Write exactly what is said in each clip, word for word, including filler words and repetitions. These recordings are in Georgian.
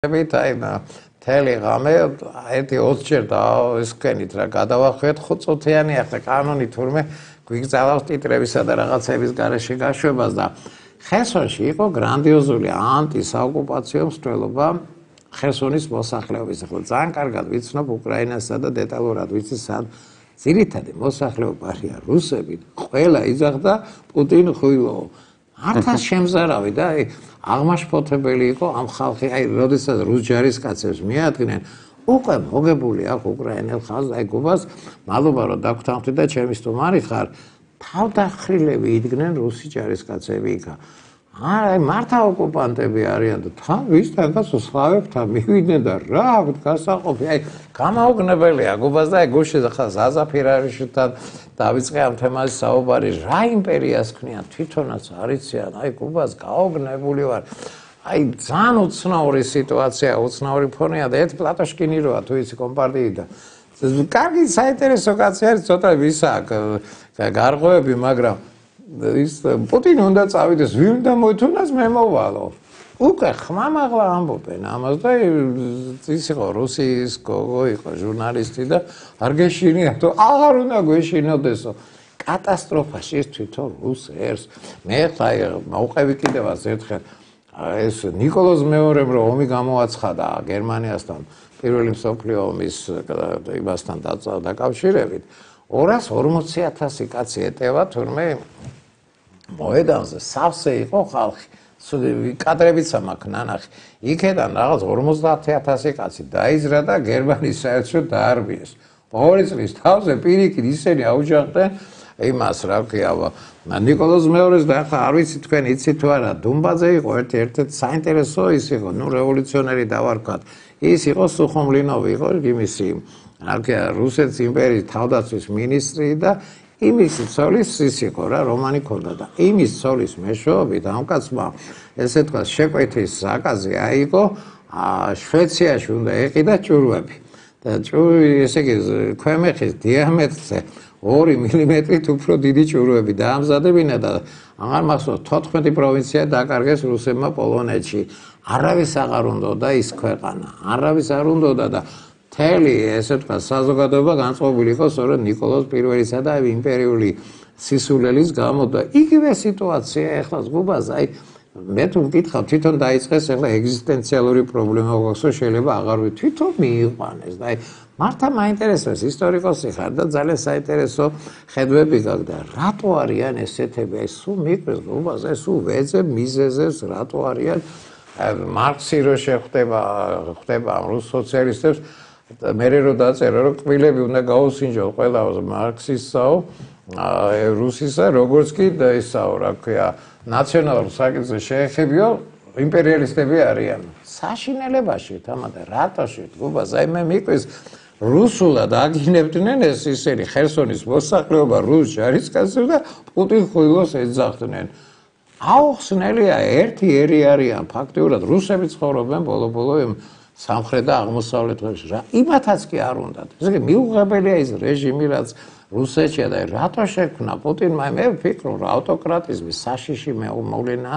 აი მთელი ღამე ერთი ოცჯერ დავისკენით რა გადავახვიეთ ხუთწუთიანი ახლა კანონი თურმე გვიგზავნოს ტიტრებისა და რაღაცების გარეშე გაშვებას და ხერსონში იყო გრანდიოზული ანტისაოკუპაციო მსვლელობა ხერსონის მოსახლეობის ახლა ძალიან კარგად ვიცნობ უკრაინასა და დეტალურად ვიცი სად ძირითადი მოსახლეობა არიან რუსები ყველა იძახდა პუტინ ხვილო ართას შემზარავი და აი აღმაშფოთებელი იყო ამ ხალხი აი როდესაც რუს ჯარისკაცებს მიადგნენ უკვე მოგებული აქვს უკრაინელ ხალხს აი გუბას მადლობა რომ დაგვრთანხმდი და ჩემი სტუმარი ხარ თავდახრილები იდგნენ რუსი ჯარისკაცები იქა აი მართა ოკუპანტები არიან და თან ვისთანაც სლავებთან მივიდნენ და რა გასაყოფი აი გამაოგნებელია გუბას და აი გუშინ ხა ზაზაფირარიშთან დავიწყე ამ თემაზე საუბარი რა იმპერიას ქმნიან თვითონაც არიციან აი გუბას გაოგნებული ვარ აი ძალიან უცნაური სიტუაცია უცნაური ფონია და ერთ პლატოშკინი როა თუ იცი კომპარტიიდან კარგი საინტერესო კაცი არის ცოტა ვისაკ გარღვევები მაგრამ ის პუტინი უნდა წავიდეს ვინ უნდა მოითუნას მე მოვალო უკვე ხმამაღლა ამბობენ ამას და ის იყო რუსის გოგო იყო ჟურნალისტი და არ გეშინია თუ აღარ უნდა გვეშინოდესო კატასტროფაში ის თვითონ რუს ერს მე ხა მოუყევი კიდევაც ერთხელ ეს ნიკოლოზ მეორემ რომ ომი გამოაცხადა გერმანიასთან პირველი მსოფლიო ომის იმასთან დაკავშირებით ორას ორმოცი ათასი კაცი ეტევა თურმე მოედანზე სავსე იყო ხალხი კადრებიც მაქვს ნანახი იქედან რაღაც ორმოცდაათი ათასი კაცი დაიზრა და გერმანიის საერთოდ დაარბიეს ორი წლის თავზე პირიქით ისინი აუჯანყდნენ იმას რა ქვია ნიკოლოზ მეორეს და ახლა არ ვიცი თქვენ იცით თუ არა დუმბაძე იყო ერთი ერთ-ერთი საინტერესო ის იყო ნუ რევოლუციონერი დავარქვათ ის იყო სუხომლინოვი იყო იმისი რა ქვია რუსეთის იმპერიის თავდაცვის მინისტრი და იმის ცოლის ის იყო რა რომანი ქონდა და იმის ცოლის მეშვეობით ამ კაცმა ესე თქვა შეკვეთის საკაზი აიღო შვეიცარიაში უნდა ეყიდა ჭურვები და ჭურვი ესე იგი ქვემეხის დიამეტრზე ორი მილიმეტრით უფრო დიდი ჭურვები დაამზადებინა და აღარ მახსოვს თოთხმეტი პროვინცია დაკარგეს რუსებმა პოლონეთში არავის აღარ უნდოდა ის ქვეყანა არავის არ უნდოდა და მთელი ესე თქვა საზოგადოება განწყობილი იყო სწორედ ნიკოლოზ პირველისა და იმპერიული სისულელის გამო და იგივე სიტუაცია ეხლა გუბას აი მე თუ მკითხავ თვითონ დაიწყეს ეხლა ეგზისტენციალური პრობლემა გვაქვს შეიძლება აღარ ვი თვითონ მიიყვანეს და აი მართა მაინტერესებს ისტორიკოსი ხარ და ძალიან საინტერესო ხედვები გაქვს და რატო არიან ესეთები აი სულ მიყვეს გუბას აი სულ ვეძებ მიზეზებს რატო არიან მარქსი რო შეხვდება ხდება რუს სოციალისტებს მე რო დაწერა რომ კბილები უნდა გაუსინჯო ყველა მარქსისაო რუსისა როგორც კი და ისაო რა ქვია ნაციონალურ საკითხზე შეეხებიო იმპერიალისტები არიან საშინელებაში თამადა რატოში გუბას აი მე მიყვეს რუსულად აგინებდნენ ეს ისინი ხერსონის მოსახლეობა რუს ჯარისკაცებს და პუტინ ხვილოს ეძახდნენ აუხსნელია ერთი ერი არიან ფაქტიურად რუსები ცხოვრობენ ბოლო-ბოლო იმ სამხრეთ და აღმოსავლეთ ქვეყნებში რა იმათაც კი არ უნდათ ესე იგი მიუღებელია ის რეჟიმი რაც რუსეთშია და რატო შექმნა პუტინმა მე ვფიქრობ რომ ავტოკრატიზმის საშიში მოვლენა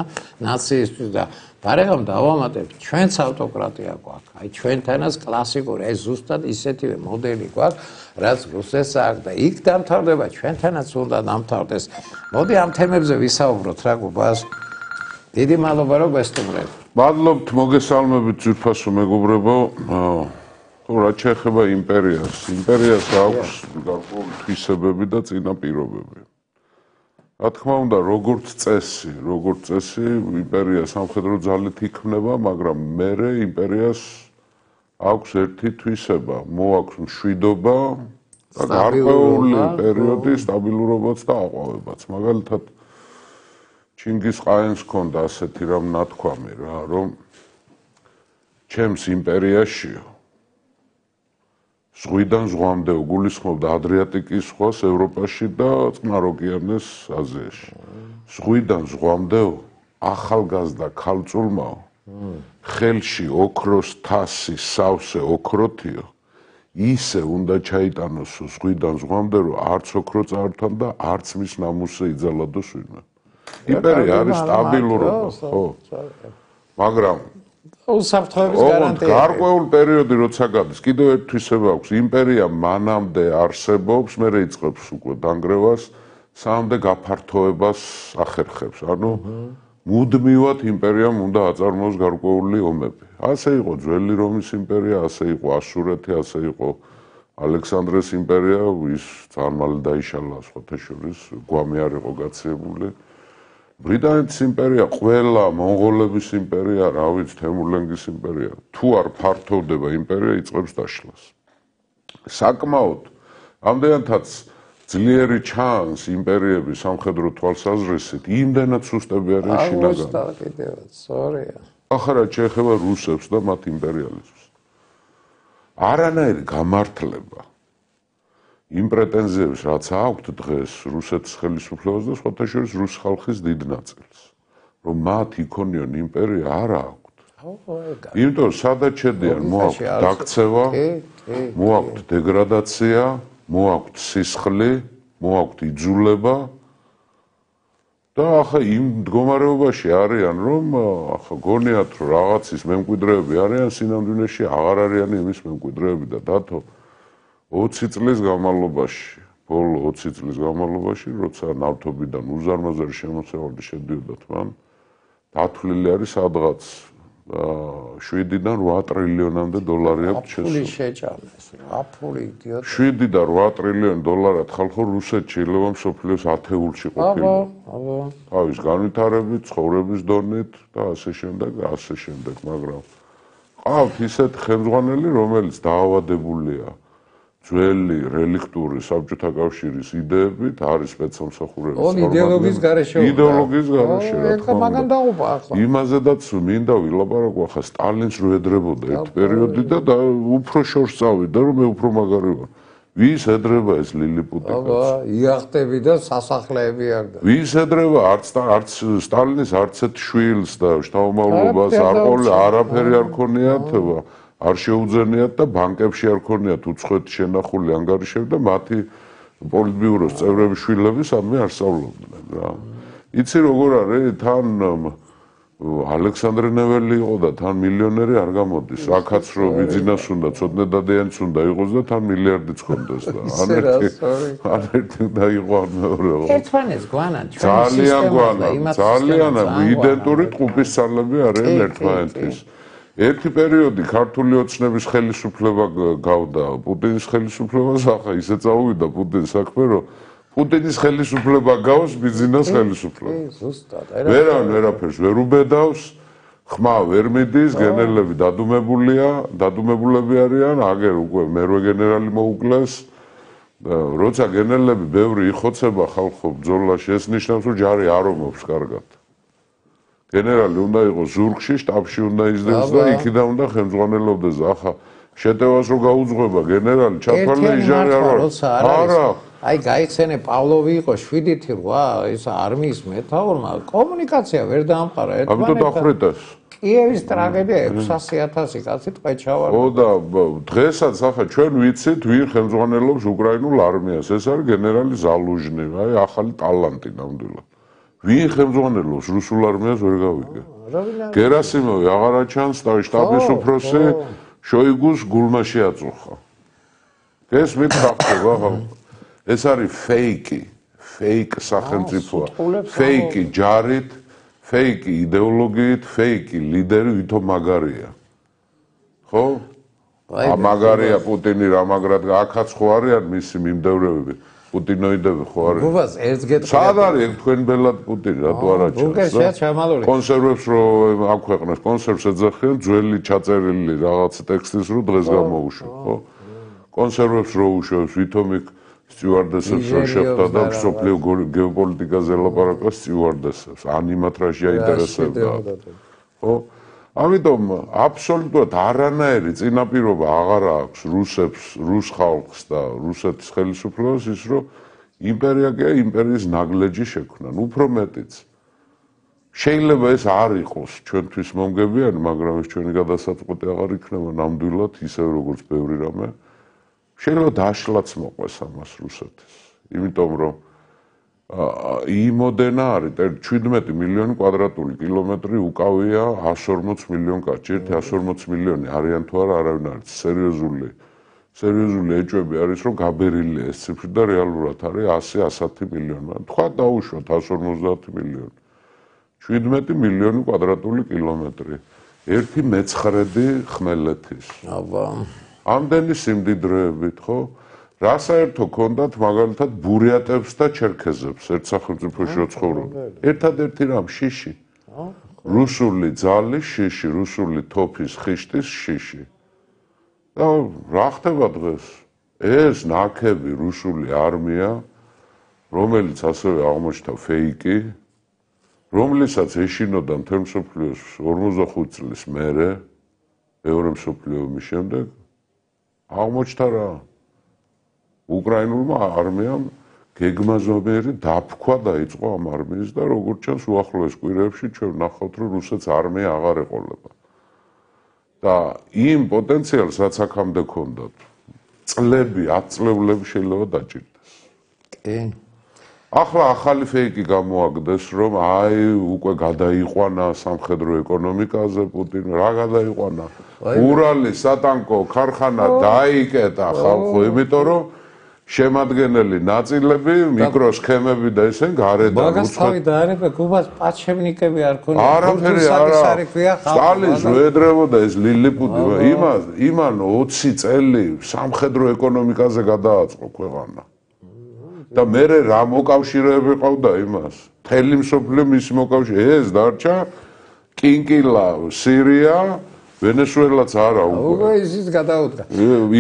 ნაციისთვის და გარეგან დავამატებ ჩვენც ავტოკრატია გვაქვს აი ჩვენთანაც კლასიკური ეს ზუსტად ისეთივე მოდელი გვაქვს რაც რუსეთს აქვს და იქ დამთავრდება ჩვენთანაც უნდა დამთავრდეს მოდი ამ თემებზე ვისაუბროთ რა გუბას დიდი მადლობა რომ გესტუმრეთ მადლობთ მოგესალმებით ძვირფასო მეგობრებო თუ რა შეეხება იმპერიას იმპერიას აქვს გარკვეული თვისებები და წინაპირობები რა თქმა უნდა როგორც წესი როგორც წესი იმპერია სამხედრო ძალით იქმნება მაგრამ მერე იმპერიას აქვს ერთი თვისება მოაქვს მშვიდობა და გარკვეული პერიოდი სტაბილურობაც და აყვავებაც მაგალითად ჩინგის-ყაენს ჰქონდა ასეთი რამ ნათქვამი რა რომ ჩემს იმპერიაშიო ზღვიდან ზღვამდე გულისხმობდა ადრიატიკის ზღვას ევროპაში და წყნარ ოკეანეს აზიაში ზღვიდან ზღვამდე ახალგაზრდა ქალწულმა ხელში ოქროს თასი სავსე ოქროთიო ისე უნდა ჩაიტანოს ზღვიდან ზღვამდე რომ არც ოქრო წაართვა და არც მის ნამუსზე იძალადოს ვინმე იმპერია არის სტაბილურობა ხო მაგრამ უსაფრთხოების გარანტია. გარკვეულ პერიოდი როცა გადის, კიდევ ერთ თვისება აქვს, იმპერია მანამდე არსებობს, მერე იწყებს უკვე დანგრევას, სამდე გაფართოებას ახერხებს. ანუ მუდმივად იმპერიამ უნდა აწარმოოს გარკვეული ომები. ასე იყო ძველი რომის იმპერია, ასე იყო ასურეთი, ასე იყო ალექსანდრეს იმპერია, ის ძალიან მალე დაიშალა სხვათა შორის, გვამი არ იყო გაციებული. ბრიტანეთის იმპერია, ყველა მონღოლების იმპერია, რა ვიცი, თემურლენგის იმპერია, თუ არ ფართოვდება იმპერია, იწყებს დაშლას. საკმაოდ ამდენადაც ძლიერი ჩანს იმპერიების სამხედრო თვალსაზრისით, იმდენად სუსტები არიან შინაგანი. აუცილებლად კიდევაც, სწორია. ახლა შეეხება რუსებს და მათ იმპერიალიზმს. არანაირი გამართლება იმ პრეტენზიებს, რაც აქვთ დღეს რუსეთის ხელისუფლებას და სხვათა შორის რუს ხალხის დიდ ნაწილს, რომ მათ იქონიონ იმპერია არ აქვთ. იმიტომ სადაც შედიან, მოაქვთ დაქცევა, მოაქვთ დეგრადაცია, მოაქვთ სისხლი, მოაქვთ იძულება და ახლა იმ მდგომარეობაში არიან, რომ ახლა გონიათ, რომ რაღაცის მემკვიდრეები არიან სინამდვილეში, აღარ არიან იმის მემკვიდრეები და დათო ოცი წლის განმავლობაში, ბოლო ოცი წლის განმავლობაში, როცა ნავთობიდან უზარმაზარი შემოსავალი შედიოდა მან, დათვლილი არის სადღაც შვიდიდან რვა ტრილიონამდე დოლარი აქვს შესული. აფული შეჭამეს, აფული იდიოტი. შვიდი და რვა ტრილიონი დოლარად ხალხო რუსეთში ილევა მსოფლიოს ათეულში ყოფილი. აბა, აბა. თავის განვითარებით, ცხოვრების დონით და ასე შემდეგ და ასე შემდეგ, მაგრამ ყავთ ისეთ ხელმძღვანელი, რომელიც დაავადებულია ძველი რელიქტური საბჭოთა კავშირის იდეებით, არის სპეცსამსახურების წარმომადგენელი. იდეოლოგიის გარეშე. იდეოლოგიის გარეშე, რა თქმა უნდა. მაგან დაუპა ახლა. იმაზედაც მინდა ვილაპარაკო ახლა სტალინს რო εδრებოდა ერთ პერიოდი და უფრო შორს წავიდა, რომ მე უფრო მაგარი ვარ. ვის ედრება ეს ლილიპუტი? აბა, იახტები და სასახლეები არ და. ვის ედრება არც არც სტალინის არც ერთ შვილს და შთამომავლობას არ ყოლ არაფერი არ ქონიათ. არ შეუძენიათ და ბანკებში არ ქონიათ უცხოეთ შენახული ანგარიშები და მათი პოლიტბიუროს წევრების შვილები სადმე არ სწავლობდნენ რა. იცი როგორ არის თან ალექსანდრე ნეველი იყო და თან მილიონერი არ გამოდის. აქაც რო ბიზნეს უნდა ცოტნე დადიანიც უნდა იყოს და თან მილიარდიც ხონდეს და ან ერთი ან ერთი და იყო ან მეორე. ერთმანეთს გვანან ჩვენ ძალიან გვანან, ძალიან იდენტური ტყუპის ძალები არიან ერთმანეთის. ერთი პერიოდი ქართული ოცნების ხელისუფლება გავდა პუტინის ხელისუფლებას, ახლა ისე წავიდა პუტინის საქმე, რომ პუტინის ხელისუფლება გავს ბიზნეს ხელისუფლებას. ზუსტად. ვერან ვერაფერს ვერ უბედავს, ხმა ვერ მიდის, გენერლები დადუმებულია, დადუმებულები არიან, აგერ უკვე მერვე გენერალი მოუკლეს. როცა გენერლები ბევრი იხოცება ხალხო ბრძოლაში, ეს ნიშნავს, რომ ჯარი არ ომობს კარგად. გენერალი უნდა იყოს ზურგში, შტაბში უნდა ისდევს და იქიდან უნდა ხელმძღვანელობდეს. ახლა შეტევას რო გაუძღვება გენერალი, ჩათვალე იჟარი არ არის. არა. აი გაიხსენე პავლოვი იყო შვიდი რვა, ის არმიის მეთაურმა კომუნიკაცია ვერ დაამყარა ერთმანეთთან. ამიტომ დახრიტეს. კიევის ტრაგედია ექვსასი ათასი კაცი ტყეჩავარ. ო და დღესაც ახლა ჩვენ ვიცით ვინ ხელმძღვანელობს უკრაინულ არმიას. ეს არის გენერალი ზალუჟნი, აი ახალი ტალანტი ნამდვილად. ვინ ხელმძღვანელობს რუსულ არმიას ვერ გავიგე. გერასიმოვი აღარ აჩანს და შტაბის უფროსი შოიგუს გულმა შეაწუხა. გესმით ხახტება ხა. ეს არის ფეიკი, ფეიკ სახელმწიფოა. ფეიკი ჯარით, ფეიკი იდეოლოგიით, ფეიკი ლიდერი ვითომ მაგარია. ხო? მაგარია პუტინი რა მაგრად აქაც ხო არიან მისი მიმდევრებები. პუტინოიდები ხო არის? გუბას ერთს გეტყვი. სად არის თქვენ ბელად პუტინი, რატო არ აჩვენს? ბუნკერშია ჩამალული. კონსერვებს რო აქვეყნეს, კონსერვს ეძახიან ძველი ჩაწერილი რაღაც ტექსტის რო დღეს გამოუშვა, ხო? კონსერვებს რო უშვებს, ვითომ იქ სტიუარდესებს რო შეხვდა და სოფლიო გეოპოლიტიკაზე ლაპარაკა სტიუარდესებს, ან იმათ რა შეაინტერესებდა. ხო? ამიტომ აბსოლუტურად არანაირი წინაპირობა აღარ აქვს რუსებს, რუს ხალხს და რუსეთის ხელისუფლებას ის რომ იმპერია კი იმპერიის ნაგლეჯი შექმნან, უფრო მეტიც. შეიძლება ეს არ იყოს ჩვენთვის მომგებიანი, მაგრამ ეს ჩვენი გადასაწყვეტი აღარ იქნება ნამდვილად ისე როგორც ბევრი რამე. შეიძლება დაშლაც მოყვეს ამას რუსეთის. იმიტომ რომ იმოდენა არის შვიდმეტი მილიონი კვადრატული კილომეტრი უკავია εκατს ორმოც მილიონ კაცი. ერთი εκατს ორმოც მილიონი არიან თუ არა არავინ არ იცის. სერიოზული სერიოზული ეჭვები არის რომ გაბერილია ეს ციფრი და რეალურად არის ასი ასათი მილიონი. თქვა დაუშვათ εκατს ორმოცდაათი მილიონი. შვიდმეტი მილიონი კვადრატული კილომეტრი. ერთი მეცხრედი ხმელეთის. აბა. ამდენი სიმდიდრეებით, ხო? რა საერთო ქონდათ მაგალითად ბურიატებს და ჩერქეზებს ერთ სახელმწიფოში რო ცხოვრობენ. ერთადერთი რამ შიში. რუსული ძალი შიში, რუსული თოფის ხიშტის შიში. და რა ხდება დღეს? ეს ნაქები რუსული არმია, რომელიც ასევე აღმოჩნდა ფეიკი, რომლითაც ეშინოდა მთელ მსოფლიოს ორმოცდახუთი წლის მერე, მეორე მსოფლიო ომის შემდეგ, აღმოჩნდა რა? უკრაინულმა არმიამ გეგმაზობერი დაფქვა დაიწყო ამ არმიის და როგორც ჩანს უახლოეს კვირებში ჩვენ ვნახავთ რომ რუსეთს არმია აღარ ეყოლება. და იმ პოტენციალს რაც აქამდე ჰქონდათ წლები, ათწლეულები შეიძლება დაჭირდეს. კი. ახლა ახალი ფეიკი გამოაგდეს რომ აი უკვე გადაიყვანა სამხედრო ეკონომიკაზე პუტინი, რა გადაიყვანა? ურალის სატანკო ქარხანა დაიკეტა ხალხო, იმიტომ რომ შემადგენელი ნაწილები, მიკროსქემები და ისენ გარედან მაგას თავი დაარება, გუბას პაჩევნიკები არ ქონია. არაფერი არა. სტალინს რო ედრებოდა ეს ლილიპუტი, იმას, იმან ოცი წელი სამხედრო ეკონომიკაზე გადააწყო ქვეყანა. და მერე რა მოკავშირეები ყავდა იმას? მთელი მსოფლიო მისი მოკავშირე, ეს დარჩა კინკილა, სირია, ვენესუელაც არა უკვე. უკვე ისიც გადაუდგა.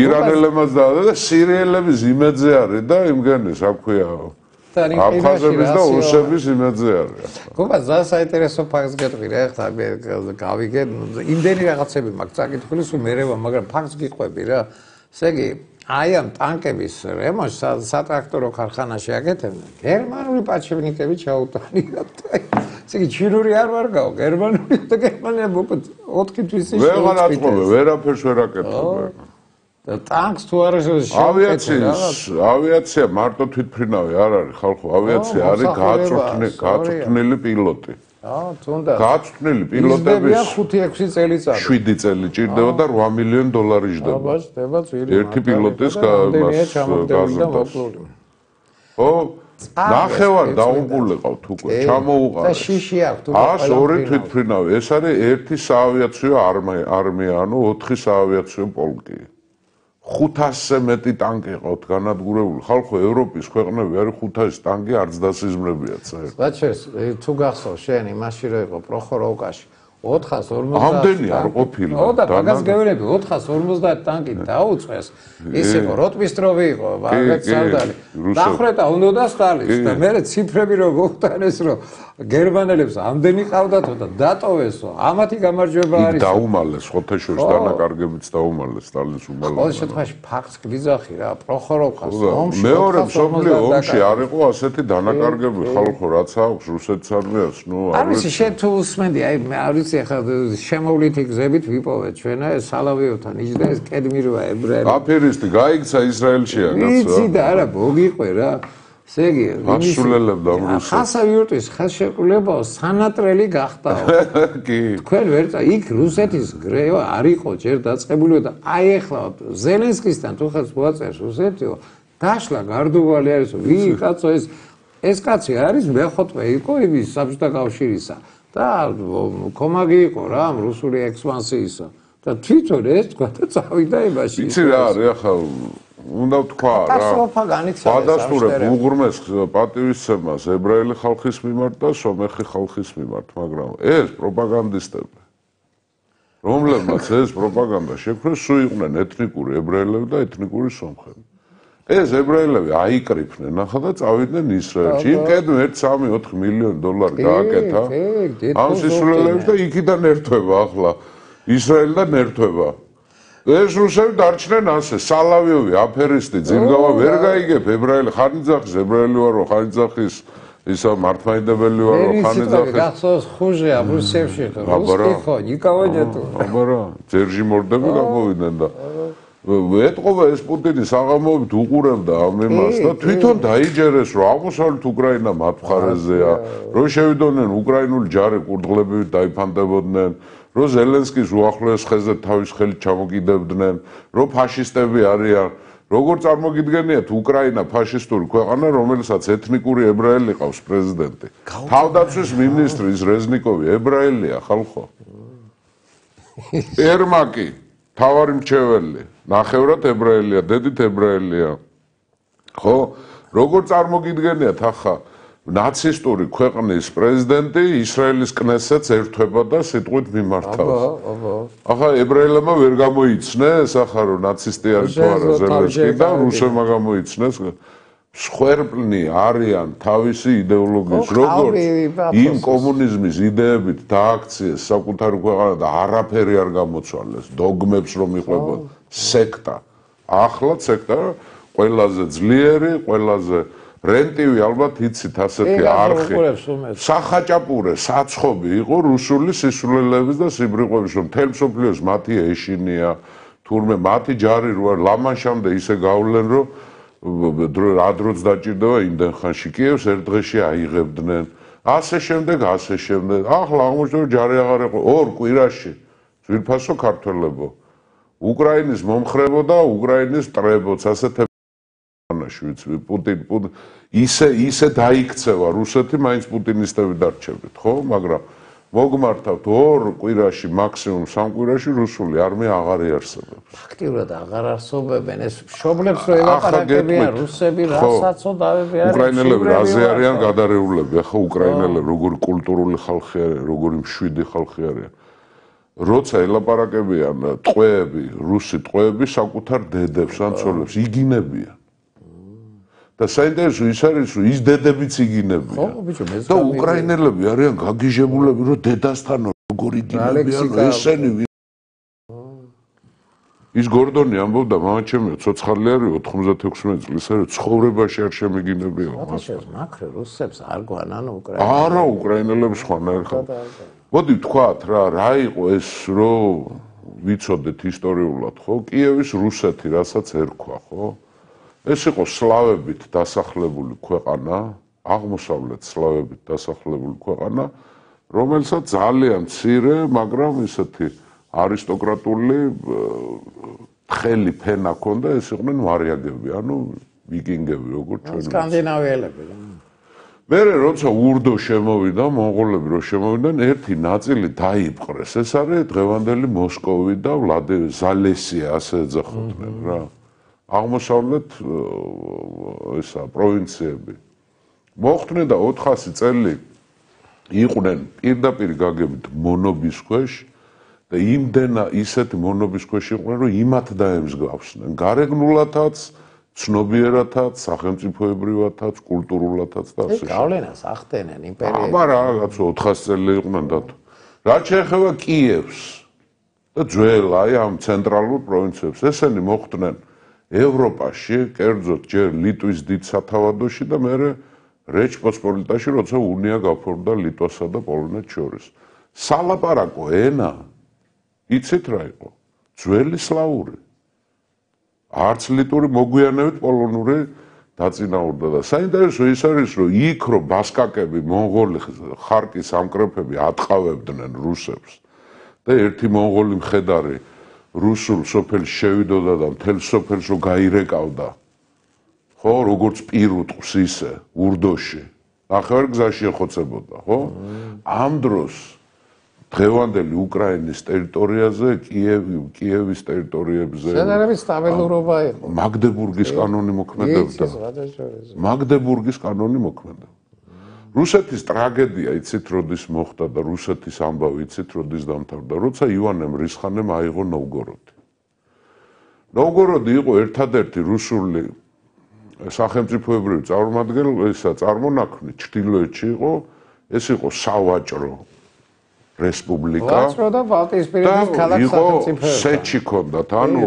ირანელებმაც და სირიელების იმედზე არის და იმგენის, რა ქვია, აფხაზების და ოსების იმედზე არის. გობა, ზა საინტერესო ფაქტს გეტყვი რა, ხა გავიგე, იმდენი რაღაცები მაქვს წაკითხული, სულ მერევა, მაგრამ ფაქტს გიყვები რა. ესე იგი, აი ამ ტანკების რემონტს სატრაქტორო ქარხანაში აკეთებდნენ. გერმანული პაჩევნიკები ჩაუტანიათ. ესე იგი, ჩინური არ ვარ გაო, გერმანული და გერმანია მოკლედ ოთხი თვის ის. ვეღარ აწყობენ, ვერაფერს ვერ აკეთებენ. და ტანკს თუ არ არის ავიაციის, ავიაცია მარტო თვითმფრინავი არ არის ხალხო, ავიაცია არის გაწვრთნილი პილოტი. აა, თუნდაც. გაწვრთნილი პილოტების ხუთი ექვსი წელიწადი. შვიდი წელი ჭირდება და რვა მილიონი დოლარი ჯდება. აბა, ჯდება ძვირი. ერთი პილოტის გაზრდას. ო, ნახევარ დაუყულიყავთ უკვე, ჩამოუყარეს. და შიში აქვს თუ ას ორი თვითმფრინავი, ეს არის ერთი საავიაციო არმია, ანუ ოთხი საავიაციო პოლკი. ხუთასზე მეტი ტანკი ყავთ განადგურებული. ხალხო, ევროპის ქვეყნები არის ხუთასი ტანკი არც დასიზმრებიათ საერთოდ. ბაჩეს, თუ გახსოვს შენ იმაში რო იყო პროხოროვკაში ოთხას ორმოცდაათი ამდენი არ ყოფილა. ო და მაგას გეუბნები ოთხას ორმოცდაათი ტანკი დაუწეს. ის იყო როტმისტროვი იყო, მაგაც სარდალი. დახრეტა უნდა და სტალის და მე ციფრები რო გოხტანეს რომ გერმანელებს ამდენი ყავდათო და დატოვესო. ამათი გამარჯვება არის. დაუმალეს ხოთეშორის დანაკარგებიც დაუმალეს სტალინის უმალობა. ყოველ შემთხვევაში ფაქტს გიძახი რა, პროხოროვკას ომში მეორე მსოფლიო ომში არ იყო ასეთი დანაკარგები ხალხო, რაც აქვს რუსეთის არმიას, ნუ არ ვიცი, შენ თუ უსმენდი, აი მე არ ვიცი ახლა შემოვლითი გზებით ვიპოვეთ ჩვენა ეს სალავიოვთან იჯდა ეს კედმი როა ებრაელი. აფერისტი გაიქცა ისრაელშია კაცო. ვიცი და არა, მოგიყვე რა. ესე იგი, ასრულებდა რუსეთს. ხასავიურტის ხელშეკრულება სანატრელი გახდაო. კი. თქვენ ვერ წა იქ რუსეთის გრევა არ იყო ჯერ დაწყებული და აი ახლა ზელენსკისთან თუ ხელს მოაწერს რუსეთიო, დაშლა გარდუვალი არის, ვი კაცო ეს ეს კაცი არის მეხუთმე იყო იმის საბჭოთა კავშირისა. და კომაგი იყო რა ამ რუსული ექსპანსიისა და თვითონ ეს თქვა და წავიდა იმაში. იცი რა არის ახლა უნდა ვთქვა რა. კატასტროფა განიცადა. ადასტურებ უღრმეს პატივისცემას ებრაელი ხალხის მიმართ და სომეხი ხალხის მიმართ, მაგრამ ეს პროპაგანდისტები რომლებმაც ეს პროპაგანდა შექმნეს, სულ იყვნენ ეთნიკური ებრაელები და ეთნიკური სომხები. ეს ებრაელები აიკრიფნენ ახლა და წავიდნენ ისრაელში. იმ კედმ ერთ სამი ოთხი მილიონი დოლარი გააკეთა. ამ სისულელებს და იქიდან ერთვება ახლა ისრაელიდან ერთვება. ეს რუსები დარჩნენ ასე, სალავიოვი, აფერისტი, ძილგავა ვერ გაიგებ ებრაელი, ხანიძახის ებრაელი ვარო, ხანიძახის ისა მართლმადიდებელი ვარო, ხანიძახის. გახსოვს ხუჟე აბრუსევში ხო? რუსკი ხო, ნიკოლაი ჯეტო. აბა რა, ძერჟი მორდები გამოვიდნენ და ეტყობა ეს პუტინის აღამობით უყურებდა ამ იმას და თვითონ დაიჯერეს რომ აღმოსავლეთ უკრაინა მათ მხარეზეა, რომ შევიდოდნენ უკრაინული ჯარი კურდღლებით დაიფანდებოდნენ, რომ ზელენსკის უახლოეს ხეზე თავის ხელით ჩამოკიდებდნენ, რომ ფაშისტები არიან. როგორ წარმოგიდგენიათ უკრაინა ფაშისტური ქვეყანა, რომელსაც ეთნიკური ებრაელი ყავს პრეზიდენტი. თავდაცვის მინისტრი ის რეზნიკოვი ებრაელია ხალხო. ერმაკი თავარი მრჩეველი, ნახევრად ებრაელია, დედით ებრაელია. ხო? როგორ წარმოგიდგენიათ ახლა ნაცისტური ქვეყნის პრეზიდენტი ისრაელის კნესეტს ერთვება და სიტყვით მიმართავს. ახლა ებრაელებმა ვერ გამოიცნეს, ახლა რომ ნაცისტი არის თუ არა ზელენსკი და რუსებმა გამოიცნეს. სხვერპლნი არიან თავისი იდეოლოგიის, როგორც იმ კომუნიზმის იდეებით დააქციეს საკუთარი ქვეყანა და არაფერი არ გამოცვალეს, დოგმებს რომ იყვებოდა, სექტა. ახლა სექტა ყველაზე ძლიერი, ყველაზე რენტივი ალბათ იცით ასეთი არხი. სახაჭაპურე, საცხობი იყო რუსული სისულელების და სიბრიყვების, რომ მთელ მსოფლიოს მათი ეშინია, თურმე მათი ჯარი რო ლამანშამდე ისე გავლენ, რომ რა დროც დაჭირდება იმდენ ხანში კიევს ერთ დღეში აიღებდნენ. ასე შემდეგ, ასე შემდეგ. ახლა აღმოჩნდა ჯარი აღარ იყო ორ კვირაში. ძვირფასო ქართველებო. უკრაინის მომხრებო და უკრაინის მტრებოც ასეთ პუტინ ისე ისე დაიქცევა რუსეთი, მაინც პუტინისტები დარჩებით, ხო? მაგრამ მოგმართავთ ორ კვირაში, მაქსიმუმ სამ კვირაში რუსული არმია აღარ იარსებებს. აქტიურად აღარ არსებობენ ეს მშობლებს რო ელაპარაკებიან რუსები, რასაც დავები არის. უკრაინელები რაზე არიან გადარეულები, ახლა უკრაინელები როგორი კულტურული ხალხი არიან, როგორი მშვიდი ხალხი არიან. როცა ელაპარაკებიან ტყვეები, რუსი ტყვეები საკუთარ დედებს ან ცოლებს იგინებიან. და საინტერესო ის არის, რომ ის დედებიც იგინებიან. და უკრაინელები არიან გაგიჟებულები, რომ დედასთან როგორ იგინებიან, ესენი ის გორდონი ამბობდა, მამაჩემი ცოცხალი არის ოთხმოცდათექვსმეტ წლის, არის ცხოვრებაში არ შემიგინებია. ათაშევს მაქრე რუსებს არ გვანან უკრაინელებს. არა, უკრაინელებს ხვანაერ ხარ. მოდი ვთქვათ რა, რა იყო ეს, რომ ვიცოდეთ ისტორიულად, ხო? კიევის რუსეთი, რასაც ერქვა, ხო? ეს იყო სლავებით დასახლებული ქვეყანა, აღმოსავლეთ სლავებით დასახლებული ქვეყანა, რომელსაც ძალიან მცირე, მაგრამ ისეთი არისტოკრატული თხელი ფენა ჰქონდა, ეს იყვნენ ვარიაგები, ანუ ვიკინგები, როგორც ჩვენ. სკანდინავიელები. მერე როცა ურდო შემოვიდა, მონღოლები რო შემოვიდნენ, ერთი ნაწილი დაიპყრეს. ეს არის დღევანდელი მოსკოვი და ვლადიმერ ზალესია, ასე ეძახოდნენ რა. აღმოსავლეთ ესა პროვინციები. მოხდნენ და ოთხასი წელი იყვნენ პირდაპირ გაგებით მონობის ქვეშ და იმდენა ისეთი მონობის ქვეშ იყვნენ, რომ იმათ დაემსგავსნენ. გარეგნულათაც, ცნობიერათაც, სახელმწიფოებრივათაც, კულტურულათაც და ასე. ეს გავლენას ახდენენ იმპერიები. აბა რაღაც ოთხასი წელი იყვნენ და რაც შეეხება კიევს და ძველ აი ამ ცენტრალურ პროვინციებს, ესენი მოხდნენ ევროპაში, კერძოდ ჯერ ლიტვის დიდ სათავადოში და მერე რეჩპოსპოლიტაში, როცა უნია გაფორმდა ლიტვასა და პოლონეთს შორის. სალაპარაკო ენა იცით რა იყო? ძველი სლავური. არც ლიტვური მოგვიანებით პოლონური დაწინაურდა და საინტერესო ის არის, რომ იქ რო ბასკაკები, მონღოლი ხარკის ამკრეფები ატყავებდნენ რუსებს და ერთი მონღოლი მხედარი რუსულ სოფელს შევიდოდა და მთელ სოფელს რო გაირეკავდა. ხო, როგორც პირუტყვს ისე, ურდოში. ნახევარ გზაში ეხოცებოდა, ხო? ამ დროს დღევანდელი უკრაინის ტერიტორიაზე, კიევი, კიევის ტერიტორიებზე შედარებით სტაბილურობა იყო. მაგდებურგის კანონი მოქმედებდა. მაგდებურგის კანონი მოქმედებდა. რუსეთის ტრაგედია იცით როდის მოხდა და რუსეთის ამბავი იცით როდის დამთავრდა, როცა ივანე მრისხანემ აიღო ნოვგოროდი. ნოვგოროდი იყო ერთადერთი რუსული სახელმწიფოებრივი წარმომადგენელი, ესა წარმონაქმნი ჩრდილოეთში იყო, ეს იყო სავაჭრო რესპუბლიკა. ვაჭრო და ბალტიისპირეთის ქალაქ სახელმწიფოებია. სეჩი ჰქონდათ, ანუ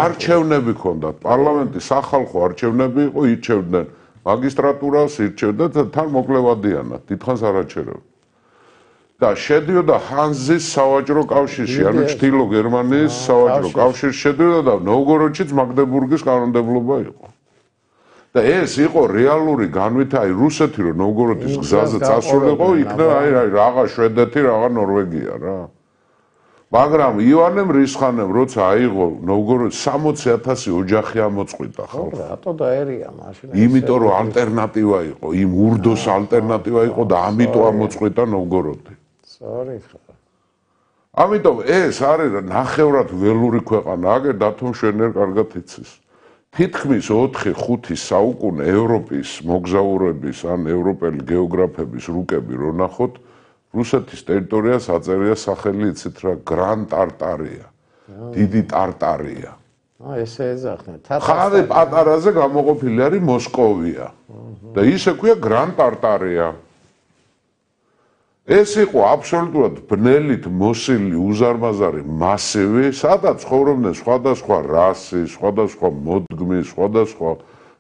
არჩევნები ჰქონდათ, პარლამენტი, სახალხო არჩევნები იყო, ირჩევდნენ მაგისტრატურას, ირჩევდა და თან მოკლევადიანად, დიდხანს არ აჩერებდა. და შედიოდა ჰანზის სავაჭრო კავშირში, ანუ ჩრდილო გერმანიის სავაჭრო კავშირში შედიოდა და ნოვგოროდშიც მაგდებურგის კანონმდებლობა იყო. და ეს იყო რეალური განვითარება, აი რუსეთი რომ ნოვგოროდის გზაზე წასულიყო, იქნა აი რაღა შვედეთი, რაღა ნორვეგია რა. მაგრამ ივანე მრისხანემ როცა აიღო ნოვგოროდი სამოცი ათასი ოჯახი ამოწყვიტა ხალხს. რატო დაერია მაშინ? იმიტომ რომ ალტერნატივა იყო, იმ ურდოს ალტერნატივა იყო და ამიტომ ამოწყვიტა ნოვგოროდი. სწორი ხარ. ამიტომ ეს არის ნახევრად ველური ქვეყანა, აგერ დათომ შვენერ კარგად იცის. თითქმის ოთხი ხუთი საუკუნე ევროპის მოგზაურების ან ევროპელი გეოგრაფების რუკები რო ნახოთ, რუსეთის ტერიტორიას აწერია სახელი იცით რა, გრან ტარტარია, დიდი ტარტარია. აა ესე ეძახნა. ხარე პატარაზე გამოყოფილი არის მოსკოვია. და ისე ქვია გრან ტარტარია. ეს იყო აბსოლუტურად ბნელით მოსილი უზარმაზარი მასივი, სადაც ცხოვრობდნენ სხვადასხვა რასის, სხვადასხვა მოდგმის, სხვადასხვა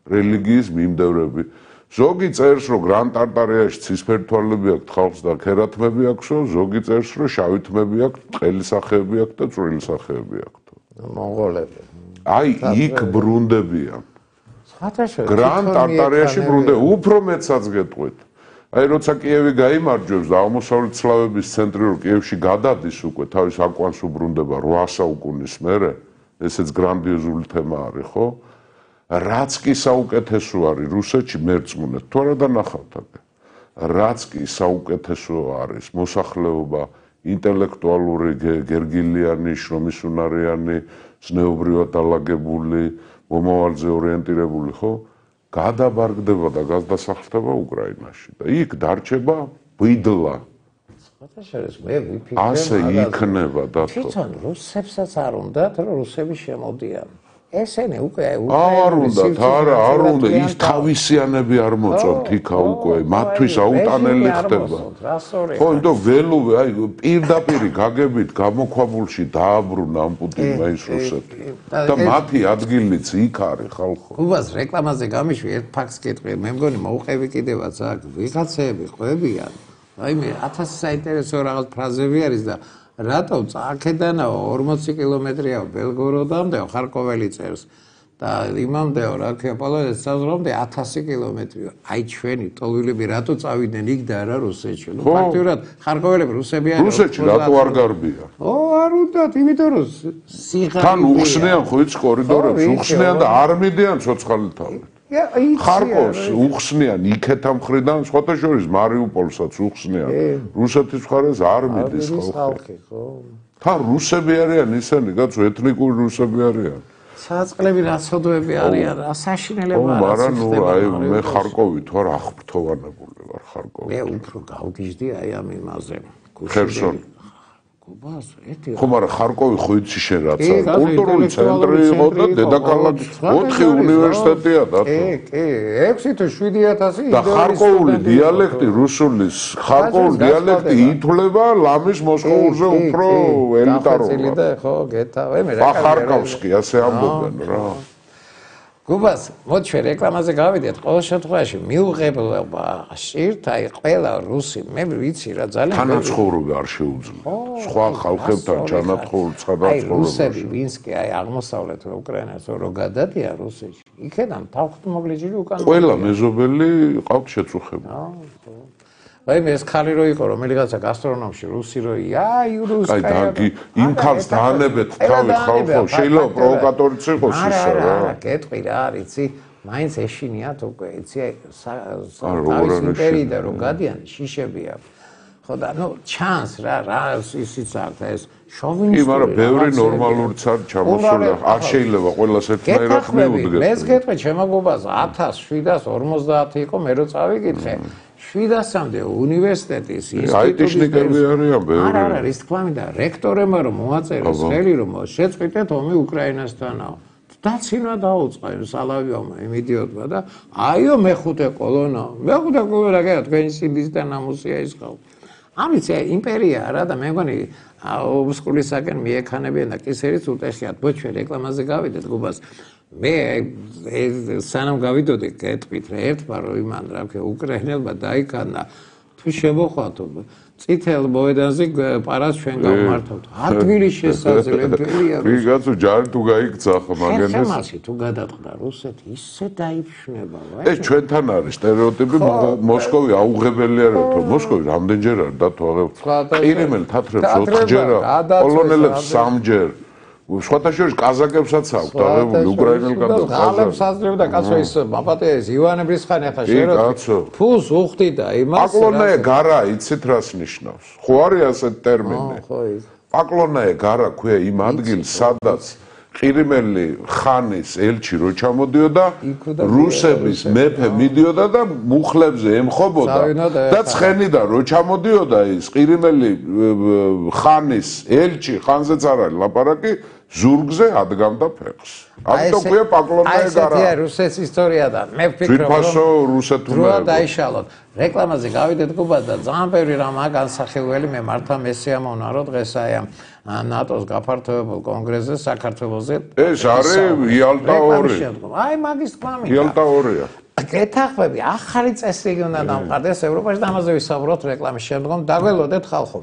რელიგიის მიმდევრები. ზოგი წერს, რომ გრან ტარტარიაში ცისფერი თვალები აქვთ ხალხს და ქერათმები აქვსო, ზოგი წერს, რომ შავი თმები აქვთ, ყელი სახეები აქვთ და წვრილი სახეები აქვთ. მონღოლები. აი იქ ბრუნდებიან. საერთოდ გრან ტარტარიაში ბრუნდებიან, უფრო მეცაც გეტყვით. აი როცა კიევი გაიმარჯვებს და აღმოსავლეთ სლავების ცენტრი რო კიევში გადადის უკვე თავის აკვანს უბრუნდება რვა საუკუნის მერე, ესეც გრანდიოზული თემა არის, ხო? რაც კი საუკეთესო არის რუსეთში მერწმუნეთ, თუ არა დანახავთ აქ. რაც კი საუკეთესო არის მოსახლეობა, ინტელექტუალური გერგილიანი, შრომისუნარიანი, ზნეობრივად დალაგებული, მომავალზე ორიენტირებული, ხო? გადაბარგდება და გადასახლდება უკრაინაში და იქ დარჩება ბიდლა. საერთოდ მე ვიფიქრე, ასე იქნება და თვითონ რუსებსაც არ უნდათ, რომ რუსები შემოდიან. ესენი უკვე არ უნდათ, არა, არ უნდა ის თავისიანები არ მოწონთ იქა უკვე, მათთვის აუტანელი ხდება. ხო, იმიტომ ველუვე, აი პირდაპირ გაგებით გამოქვაბულში დააბრუნა ამ პუტინმა ის რუსეთი. და მათი ადგილიც იქ არის ხალხო. უბას რეკლამაზე გამიშვი ერთ ფაქტს გეტყვი, მე მგონი მოუყევი კიდევაც აქ ვიღაცები ყვებიან. აი მე ათასი საინტერესო რაღაც ფრაზები არის და რატო აქედანაო ორმოცი კილომეტრია ბელგოროდამდე ხარკოველი წერს და იმამდეო რა ქვია პოლონეთს საზღვრამდე ათასი კილომეტრია. აი ჩვენი ტოლვილები რატო წავიდნენ იქ და არა რუსეთში? ნუ ფაქტიურად ხარკოველები რუსები არიან. რუსეთში რატო არ გარბიან? ო არ უნდათ, იმიტომ რომ სიღარიბეა. თან უხსნიან ხო იც კორიდორებს, უხსნიან და არ მიდიან ცოცხალი თავით. ხარკოვს უხსნიან იქეთა მხრიდან, სხვათა შორის მარიუპოლსაც უხსნიან. რუსეთის მხარეს არ მიდის ხალხი. თან რუსები არიან ისინი, კაცო, ეთნიკური რუსები არიან. საწყლები რაცოდოები არიან, საშინელება არა. მაგრამ ნუ აი მე ხარკოვი თუ არ აღფრთოვანებული ვარ ხარკოვი. მე უფრო გავგიჟდი აი ამ იმაზე. ხერსონი. გუბას ერთი ხო, მაგრამ ხარკოვი ხო იცი შენ რაცა კულტურული ცენტრი იყო და დედაქალაქი ოთხი უნივერსიტეტია და კი, კი, ექვსი თუ შვიდი ათასი და ხარკოვული დიალექტი რუსულის ხარკოვული დიალექტი ითვლება ლამის მოსკოვზე უფრო ელიტარულად. ხო, გეთავე მე რა ხარკოვსკი ასე ამბობენ რა. გუბას, მოდი ჩვენ რეკლამაზე გავიდეთ. ყოველ შემთხვევაში მიუღებლობა შირთ, აი ყველა რუსი, მე ვიცი რა ძალიან თანაცხოვრება არ შეუძლია. სხვა ხალხებთან ჩანაცხოვრება, ცხადად აი რუსები, ვინც კი აი აღმოსავლეთ უკრაინას რო გადადიან რუსეთში, იქედან თავხმობლიჯილი უკან. ყველა მეზობელი ყავთ შეწუხებული. აი მე ეს ხალი რო იყო, რომელიღაცა გასტრონომში რუსი რო ია, აი რუსკა. აი და იმ ხალხს დაანებეთ თავი ხალხო, შეიძლება პროვოკატორიც იყოს ისა რა. არა, გეტყვი რა არის, იცი, მაინც ეშინიათ უკვე, იცი, თავის იმპერიიდან რომ გადიან, შიშები აქვს. ხო და ნუ ჩანს რა, რა ისიც აქვს ეს შოვინისტური. კი, მაგრამ ბევრი ნორმალურიც არ ჩამოსული, არ შეიძლება ყველას ერთნაირად მიუდგეთ. მე გეტყვი ჩემო გუბას ათას შვიდას ორმოცდაათი იყო, მე რო წავიკითხე. შვიდასამდე უნივერსიტეტის აიტიშნიკები არიან ბევრი. არა, არა, ის თქვა მინდა, რექტორებმა რომ მოაწერეს ხელი რომ შეწყვიტეთ ომი უკრაინასთანაო. დაცინვა დაუწყა იმ სალავიოვმა, იმ იდიოტმა და აიო მეხუთე კოლონა. მეხუთე კოლონა რა თქვენი სიდის და ნამუსია ის ხალხი. ამით იმპერია რა და მე მგონი ობსკურისაკენ მიექანებიან და კისერიც უტეხიათ. ბოჩვე რეკლამაზე გავიდეთ გუბას. მე სანამ გავიდოდი გეტყვით რა ერთმა რომ იმან რა ქვია უკრაინელმა დაიქანა თუ შემოხვათ წითელ მოედანზე პარას ჩვენ გავმართავთ. ადგილი შესაძლებელია. ვიღაცა ჯარი თუ გაიქცა ხო მაგენეს. ხემასი თუ გადაწყდა რუსეთი ისე დაიფშნება. ეს ჩვენთან არის სტერეოტიპი მოსკოვი აუღებელი არ თო მოსკოვი რამდენჯერ არის დათვალე. ყირიმელი თათრებს ოთხჯერა, პოლონელებს სამჯერ. სხვათა შორის კაზაკებსაც აქვს დაღებული უკრაინელგან და ყაზაკებს აძლევდა კაცო ის მაპატეეს ივანე ბრისხანი ახლა შერო ფულს უხდი და იმას პაკლონაე გარა იცით რას ნიშნავს ხო არის ასეთ ტერმინი ხო ის პაკლონაე გარა ქვია იმ ადგილს სადაც ყირიმელი ხანის ელჩი რო ჩამოდიოდა რუსების მეფე მიდიოდა და მუხლებზე ემხობოდა და ცხენიდან რო ჩამოდიოდა ის ყირიმელი ხანის ელჩი ხანზეც არ არის ლაპარაკი ზურგზე ადგამდა ფეხს. ამიტომ ქვია პაკლონაე გარა. აი ესეთი რუსეთის ისტორიადან. მე ვფიქრობ თვითფასო რუსეთურმა. რა დაიშალოთ. რეკლამაზე გავიდეთ გუბად და ძალიან ბევრი რამაა განსახილველი მე მართა მესიამოვნა რომ დღეს აი ამ ნატოს გაფართოებულ კონგრესზე საქართველოზე ეს არის იალტა ორი. აი მაგის თქმა მინდა. იალტა ორია. გეთახმები ახალი წესრიგი უნდა დამყარდეს ევროპაში და ამაზე ვისაუბროთ რეკლამის შემდგომ. დაგველოდეთ ხალხო.